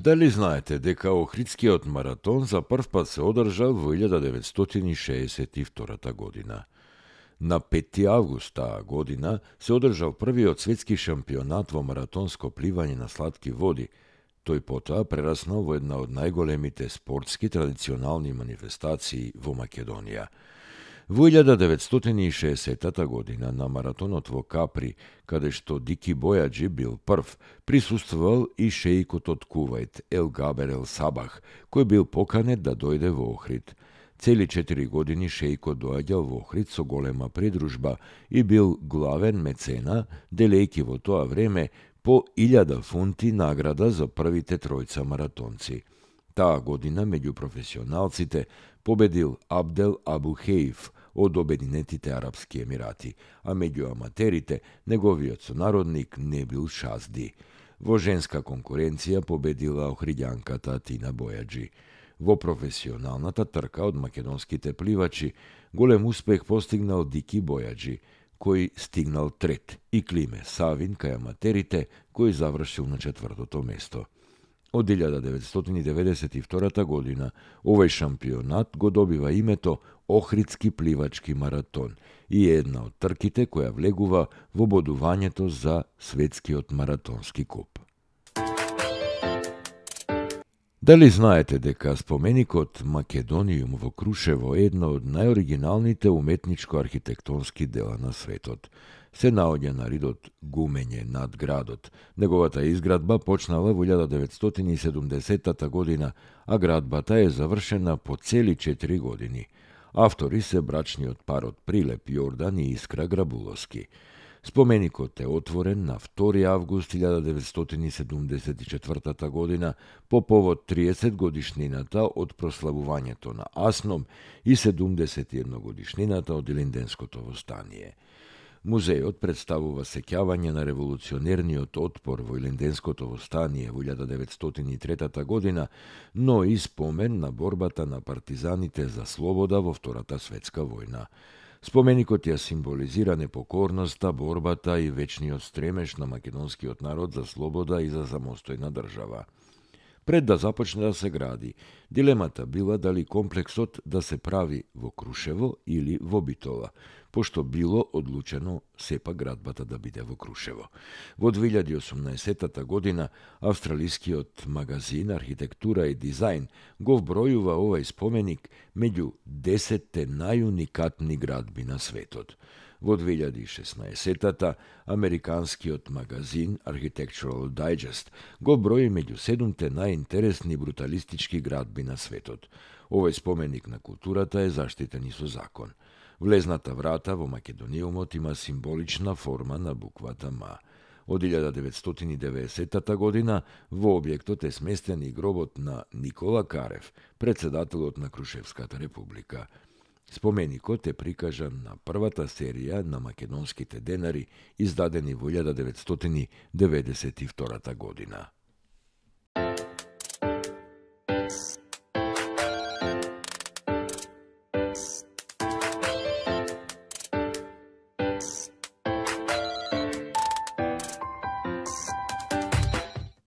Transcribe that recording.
Дали знаете дека Охридскиот маратон за прв пат се одржал во 1962 година? На 5 август таа година се одржал првиот светски шампионат во маратонско пливање на слатки води. Тој потоа прераснал во една од најголемите спортски традиционални манифестации во Македонија. Во 1960 година на маратонот во Капри, каде што Дики Бојаджи бил прв, присуствувал и шеикот од Кувајт Ел Габер Ел Сабах, кој бил поканет да дојде во Охрид. Цели 4 години шеикот доаѓал во Охрид со голема придружба и бил главен мецена, делејќи во тоа време по 1000 фунти награда за првите тројца маратонци. Таа година меѓу професионалците победил Абдел Абу Хеиф од Обединетите Арапски Емирати, а меѓу аматерите неговиот сонародник Небил Шазди. Во женска конкуренција победила охриѓанката Тина Бојаджи. Во професионалната трка од македонските пливачи голем успех постигнал Дики Бојаджи, кој стигнал трет, и Климе Савин кај аматерите, кој завршил на 4-то место. Од 1992 година овој шампионат го добива името Охридски пливачки маратон и е една од трките која влегува во бодувањето за светскиот маратонски куп. Дали знаете дека споменикот Македониум во Крушево е една од најоригиналните уметничко-архитектонски дела на светот? Се наоѓа на ридот Гумење над градот. Неговата изградба почнала во 1970 година, а градбата е завршена по цели 4 години. Автори се брачниот парот Прилеп Јордан и Искра Грабуловски. Споменикот е отворен на 2 август 1974 година по повод 30 годишнината од прославувањето на Асном и 71 годишнината од Илинденското востание. Музејот представува сеќавање на револуционерниот отпор во Илинденското востание во 1903 година, но и спомен на борбата на партизаните за слобода во Втората светска војна. Споменикот ја символизира непокорноста, борбата и вечниот стремеж на македонскиот народ за слобода и за самостојна држава. Пред да започне да се гради, дилемата била дали комплексот да се прави во Крушево или во Битола, пошто било одлучено сепак градбата да биде во Крушево. Во 2018 година австралискиот магазин Архитектура и дизајн го вбројува овој споменик меѓу 10 најуникатни градби на светот. Во 2016 американскиот магазин Architectural Digest го брои меѓу 7 најинтересни бруталистички градби на светот. Овој споменик на културата е заштитен и со закон. Влезната врата во Македониумот има символична форма на буквата М. Од 1990 година во објектот е сместен и гробот на Никола Карев, председателот на Крушевската република. Споменикот е прикажан на првата серија на македонските денари, издадени во 1992 година.